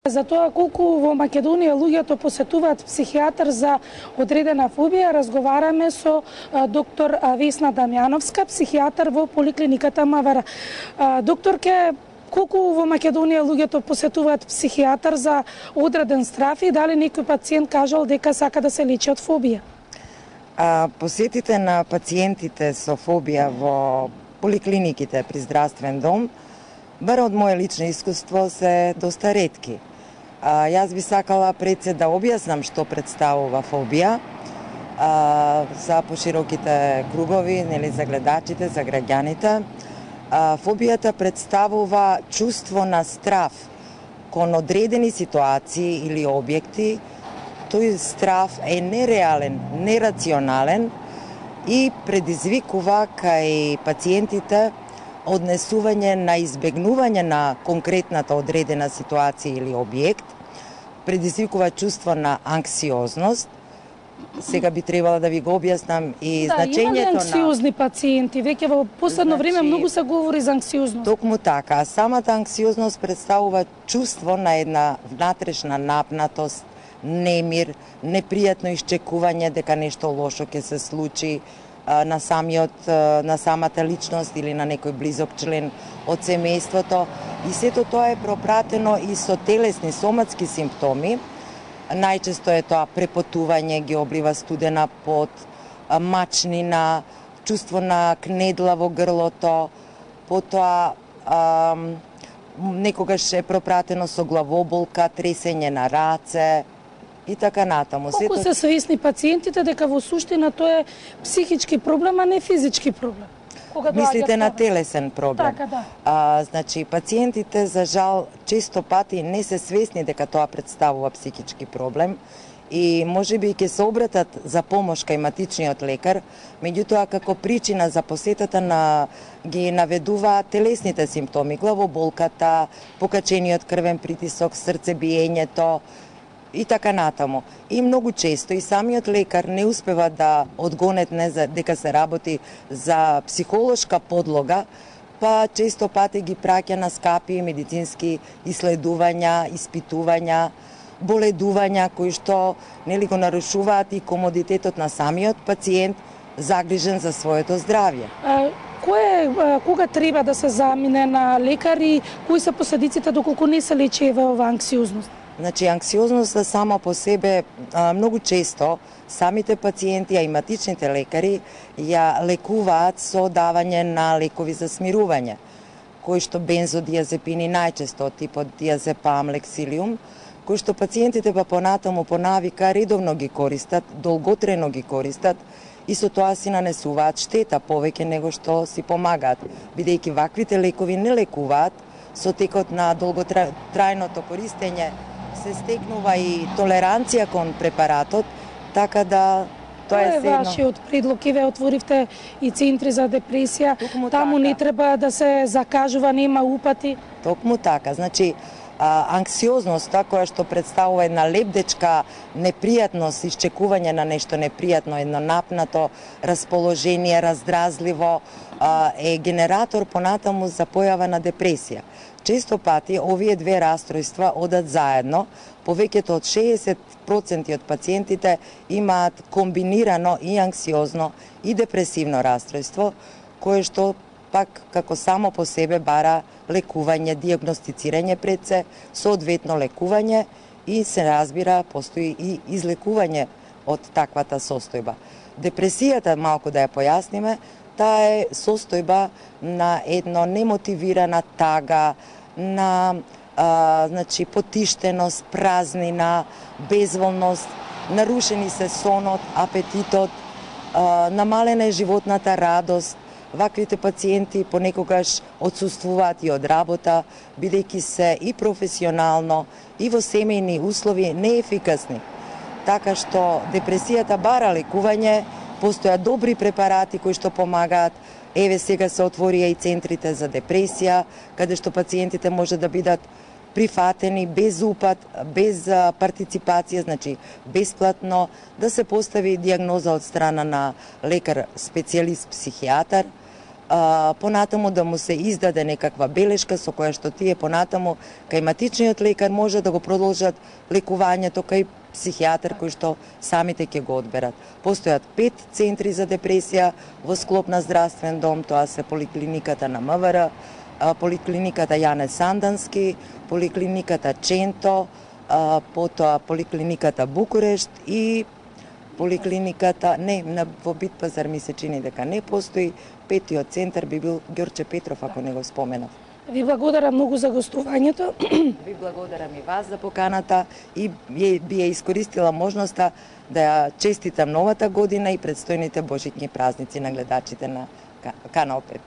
За тоа колку во Македонија луѓето посетуваат психијатар за одредена фобија, разговараме со доктор Весна Дамјановска, психијатар во поликлиниката Мавара. Докторке, колку во Македонија луѓето посетуваат психијатар за одреден страф и дали некој пациент кажал дека сака да се лечи од фобија? Посетите на пациентите со фобија во поликлиниките при здравствен дом, бар од моје лично искуство, се доста ретки. Јас би сакала пред се да објаснам што представува фобија за пошироките кругови, нели, за гледачите, за граѓаните. Фобијата представува чувство на страф кон одредени ситуации или објекти. Тој страф е нереален, нерационален и предизвикува кај пациентите однесување на избегнување на конкретната одредена ситуација или објект, предизвикува чувство на анксиозност. Сега би требало да ви го објаснам и значењето на... Има ли анксиозни пациенти? Веќе во последно време многу се говори за анксиозност. Токму така. Самата анксиозност представува чувство на една внатрешна напнатост, немир, непријатно исчекување дека нешто лошо ќе се случи на самата личност или на некој близок член од семејството. И сето тоа е пропратено и со телесни, соматски симптоми. Најчесто е тоа препотување, ги облива студена пот, мачнина, чувство на кнедла во грлото, потоа некогаш е пропратено со главоболка, тресење на раце и така натаму. Колку се свесни пациентите дека во суштина тоа е психички проблем, а не физички проблем? Мислите на телесен проблем? Така, да. Значи, пациентите, за жал, често пати не се свесни дека тоа представува психички проблем и можеби ќе се обратат за помош кај матичниот лекар, меѓутоа како причина за посетата ги наведуваат телесните симптоми, главоболката, покачениот крвен притисок, срцебиењето и така натаму. И многу често и самиот лекар не успева да одгонетне дека се работи за психолошка подлога, па често пати ги праќа на скапи медицински исследувања, испитувања, боледувања кои што нели го нарушуваат и комодитетот на самиот пациент загрижен за своето здравје. Кога треба да се замине на лекар и кои се последиците доколку не се лечи ова анксиозност? Значи, анксиозноста сама по себе многу често самите пациенти, а и матичните лекари ја лекуваат со давање на лекови за смирување, кои што бензодиазепини, најчесто од типот диазепам, лексилиум, кои што пациентите па понатаму по навика редовно ги користат, долготрено ги користат и со тоа си нанесуваат штета повеќе него што си помагаат, бидејќи ваквите лекови не лекуваат, со текот на долготрајното користење се стекнува и толеранција кон препаратот, така да тоа е седно. Вашиот предлог, ве отворивте и центри за депресија, таму не треба да се закажува, нема упати. Токму така, значи анксиозноста која што представува една лебдечка непријатност, исчекување на нешто непријатно, едно напнато расположение, раздразливо, е генератор понатаму за појава на депресија. Често пати овие две расстройства одат заедно, повеќето од 60% од пациентите имаат комбинирано и анксиозно и депресивно расстройство, кое што пак како само по себе бара лекување, диагностицирање пред се, соодветно лекување и се разбира, постои и излекување од таквата состојба. Депресијата, малку да ја појасниме, таа е состојба на едно немотивирана тага, на значи, потиштеност, празнина, безволност, нарушени се сонот, апетитот, намалена е животната радост. Ваквите пациенти понекогаш отсуствуваат и од работа, бидејќи се и професионално, и во семејни услови неефикасни. Така што депресијата бара лекување, постојат добри препарати кои што помагаат. Еве сега се отворија и центрите за депресија, каде што пациентите може да бидат прифатени без упат, без партиципација, значи бесплатно, да се постави диагноза од страна на лекар специјалист психијатар, понатаму да му се издаде некаква белешка со која што тие понатаму кај матичниот лекар може да го продолжат лекувањето кај психијатар кој што самите ќе го одберат. Постојат 5 центри за депресија во склоп на здравствен дом, тоа се поликлиниката на МВР, поликлиниката Јане Сандански, поликлиниката Ченто, потоа поликлиниката Букурешт и поликлиниката, во Бит Пазар ми се чини дека не постои, 5-тиот центар би бил Ѓорче Петров, ако не го споменав. Ви благодарам многу за гостувањето. Ви благодарам и вас за поканата и би ја искористила можноста да ја честитам новата година и предстојните божитни празници на гледачите на Канал 5.